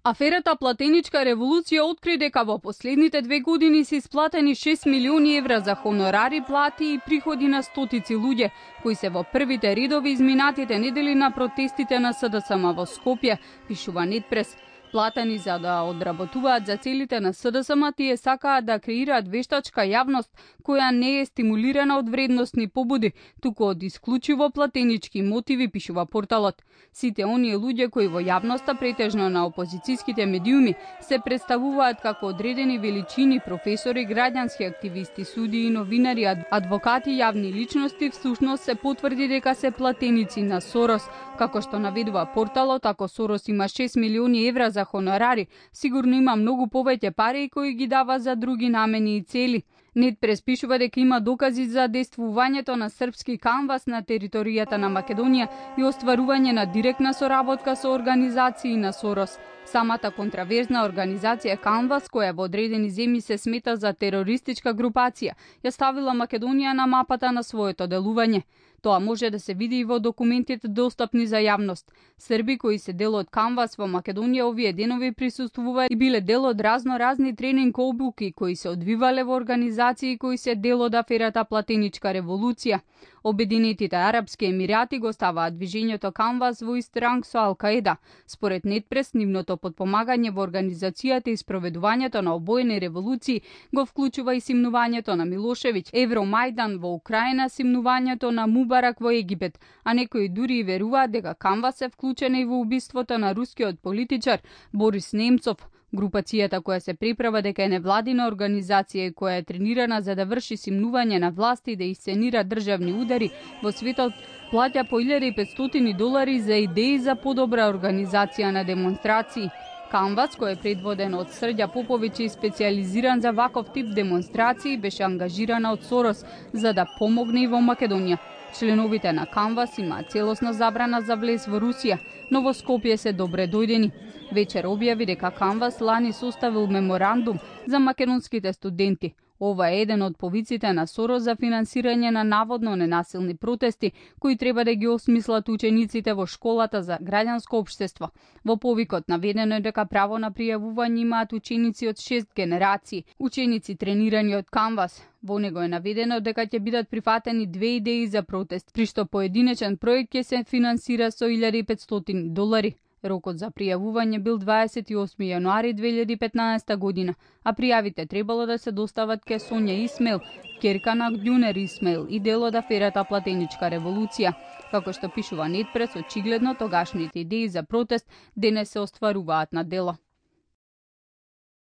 Аферата Платеничка револуција откри дека во последните 2 години се исплатени 6 милиони евра за хонорари, плати и приходи на стотици луѓе, кои се во првите редови изминатите недели на протестите на СДСМ во Скопје, пишува Нетпрес. Платени за да одработуваат за целите на СДСМ, тие сакаат да креираат вештачка јавност која не е стимулирана од вредностни побуди, туку од исклучиво платенички мотиви, пишува порталот. Сите оние луѓе кои во јавноста, претежно на опозицијските медиуми, се представуваат како одредени величини, професори, граѓански активисти, судии, новинари, адвокати, јавни личности, всушност се потврди дека се платеници на Сорос. Како што наведува порталот, ако Сорос има 6 милиони евра за хонорари, сигурно има многу повеќе пари кои ги дава за други намени и цели. Нетпрес пишува дека има докази за действувањето на српски канвас на територијата на Македонија и остварување на директна соработка со организации на Сорос. Самата контраверзна организација Канвас, која во одредени земји се смета за терористичка групација, ја ставила Македонија на мапата на своето делување. Тоа може да се види и во документите достапни за јавност. Срби кои се дел од Канвас во Македонија овие денови присуствува и биле дел од разни тренинг обуки кои се одвивале во организации кои се дел од аферата Платеничка револуција. Обединетите арапски емирати го ставаат движењето Канвас во ист ранг со Ал-Каеда. Според Нетпрес, нивното подпомагање во организацијата и спроведувањето на обоени револуции го вклучува и симнувањето на Милошевиќ, Евромајдан во Украина, симнувањето на Мубарак во Египет, а некои дури и веруваат дека Канвас е вклучена и во убиството на рускиот политичар Борис Немцов. Групацијата која се приправа дека е невладина организација која е тренирана за да врши симнување на власти и да исценира државни удари во светот, плаќа по $1.500 за идеи за подобра организација на демонстрации. Канвас, кој е предводен од Срđа Поповиќ и специјализиран за ваков тип демонстрации, беше ангажирана од Сорос за да помогне и во Македонија. Членовите на Канвас имаат целосна забрана за влез во Русија, но во Скопје се добре дојдени. Вечер објави дека Канвас лани составил меморандум за македонските студенти. Ова е еден од повиците на Сорос за финансирање на наводно ненасилни протести, кои треба да ги осмислат учениците во школата за граѓанско општество. Во повикот наведено е дека право на пријавување имаат ученици од 6 генерации, ученици тренирани од Канвас. Во него е наведено дека ќе бидат прифатени 2 идеи за протест, при што поединечен проект ќе се финансира со $1.500. Рокот за пријавување бил 28 јануари 2015 година, а пријавите требало да се достават ке Сонја Исмаил, ќерка на Ѓунер Исмаил и дел од аферата Платеничка револуција. Како што пишува Нетпрес, очигледно тогашните идеи за протест денес се остваруваат на дело.